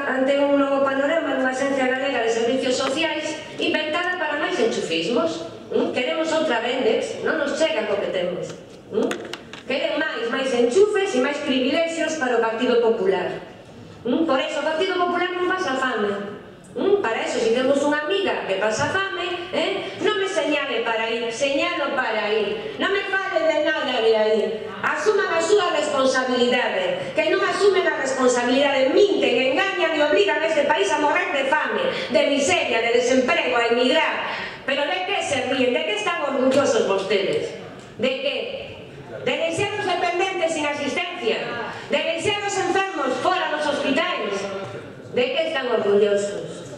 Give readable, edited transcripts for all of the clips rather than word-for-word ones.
ante un novo panorama dunha Axencia Galega de Servicios Sociais inventada para máis enchufismos. Queremos outra Vendex, non nos chega co que temos. Queren máis enchufes e máis privilexios para o Partido Popular. Por eso o Partido Popular non pasa fame. Para eso, se temos unha amiga que pasa fame, non me señale para ir, señalo para ir. Non me fale de nada de aí. Asuman a súa responsabilidade. Que non asumen a responsabilidade, minten, engañan e obligan a este país a morrer de fame, de miseria, de desemprego, a emigrar. Pero de que se ríen? De que están orgullosos vostedes? De que? De deixar os dependentes sin asistencia, de deixar os enfermos fora dos hospitais. De que están orgullosos?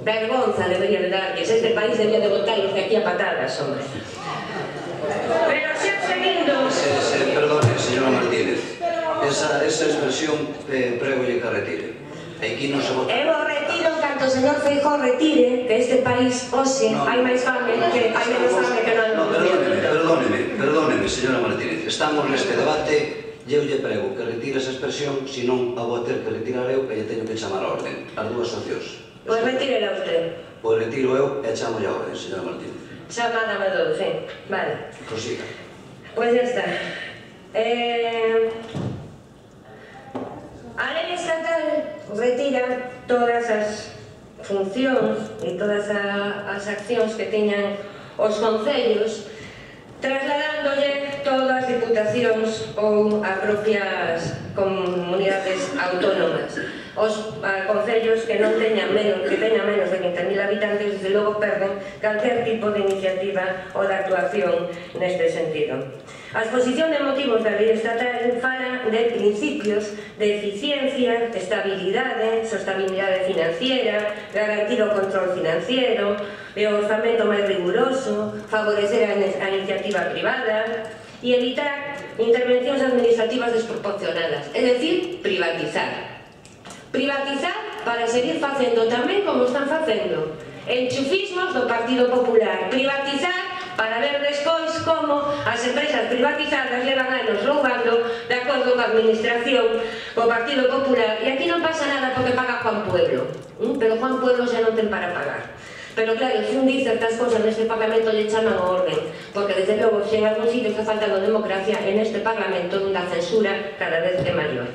Vergonza debería de darles. Este país debería de botarlos de aquí a patadas, hombre. Pero xa seguindo... Perdone, señora Martínez. Esa expresión prego-lle que retire. Aquí non se vota. Eu retiro en canto o señor Feijóo retire que este país, hoxe, hai máis fame que hai menos fame que non. Perdóneme, señora Martínez. Estamos neste debate. Eu lle prego que retire esa expresión, senón a vou ter que retirar eu, que lle teño que chamar a orden. As dúas opcións. Pois retírela usted. Pois retiro eu e chamo a orden, señora Martínez. Chamada me dou, sí. Vale. Prosiga. Pois ya está. A lei estatal retira todas as funcións e todas as accións que teñan os concellos, trasladándolle todas as diputacións ou a propias comunidades autónomas. Os concellos que non teñan menos de 20.000 habitantes, desde logo perden calquer tipo de iniciativa ou de actuación neste sentido. A exposición de motivos da lei estatal fala de principios de eficiencia, estabilidade, sostenibilidade financiera, garantir o control financiero, o orzamento máis riguroso, favorecer a iniciativa privada e evitar intervencións administrativas desproporcionadas, é dicir, privatizar. Privatizar para seguir facendo tamén como están facendo enchufismos do Partido Popular. Privatizar para ver despois como as empresas privatizadas levan anos roubando de acordo coa administración, co Partido Popular. E aquí non pasa nada porque paga Juan Pueblo, pero Juan Pueblo xa non ten para pagar. Pero claro, se un dice certas cosas neste Parlamento lle chaman o orden, porque desde logo se en algún sitio está faltando democracia, en este Parlamento onde a censura cada vez é maior.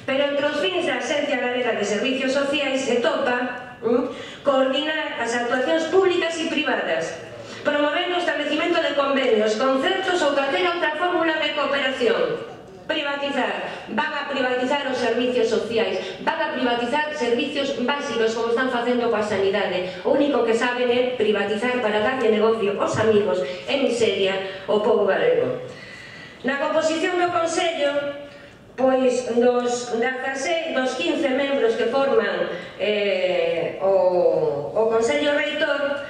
Pero entre os fins da Axencia Galega de Servicios Sociais se topa coordinar as actuacións públicas e privadas, promovendo o establecimento de convenios, concertos ou calquera outra fórmula de cooperación. Privatizar, van a privatizar os servicios sociais, van a privatizar servicios básicos como están facendo coa sanidade. O único que saben é privatizar para darlle negocio aos amigos e miseria ao pobo galego. Na composición do Consello, pois dos 15 membros que forman o Consello Reitor,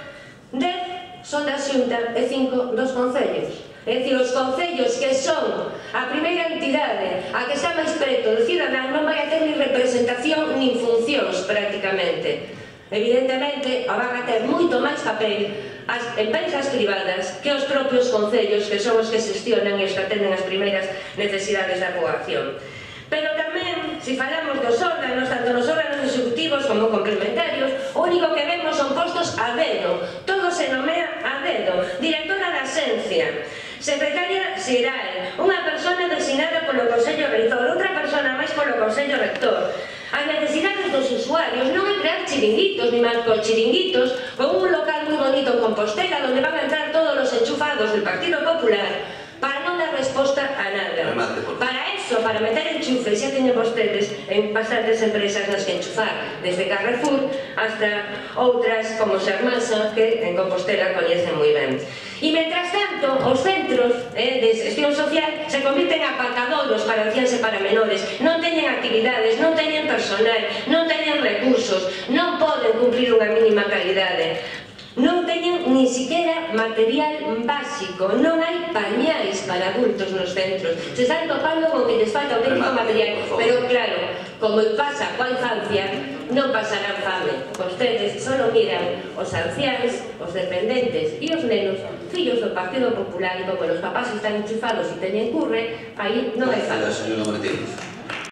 10 son da Xunta e 5 dos concellos. É dicir, os concellos que son a primeira entidade a que está máis preto do cidadán non vai a ter ni representación nin funcións prácticamente. Evidentemente, van a ter moito máis papel as empresas privadas que os propios concellos, que son os que xestionan e os que atenden as primeiras necesidades da poboación. Pero tamén, se falamos dos órganos, tanto nos órganos executivos como complementarios, o único que vemos son postos a dedo, todo se nomea a dedo. Directora da Axencia, secretaria xeral, unha persona designada polo Consello Reitor, outra persona máis polo Consello Rector. As necesidades dos usuarios non é crear chiringuitos, ni malcochiringuitos, con un local moi bonito en Compostela, onde van a entrar todos os enchufados del Partido Popular, para non dar resposta a nada. Para eso, para meter enchufes, xa teñen vostedes en bastantes empresas nas que enchufar, desde Carrefour hasta outras como Sermasa, que en Compostela coñecen moi ben. E, mentras tanto, os centros de xestión social se convirten en aparcadoiros para anciáns e para menores. Non teñen actividades, non teñen personal, non teñen recursos, non poden cumprir unha mínima calidade. Non teñen ni siquiera material básico, non hai pañais para adultos nos centros. Se están topando con que les falta auténtico material, pero claro, como pasa coa infancia, non pasarán fame. Vostedes só miran os anciáns, os dependentes e os nenos, fillos do Partido Popular, e como os papás están enchufados e teñen curre, aí non hai fame.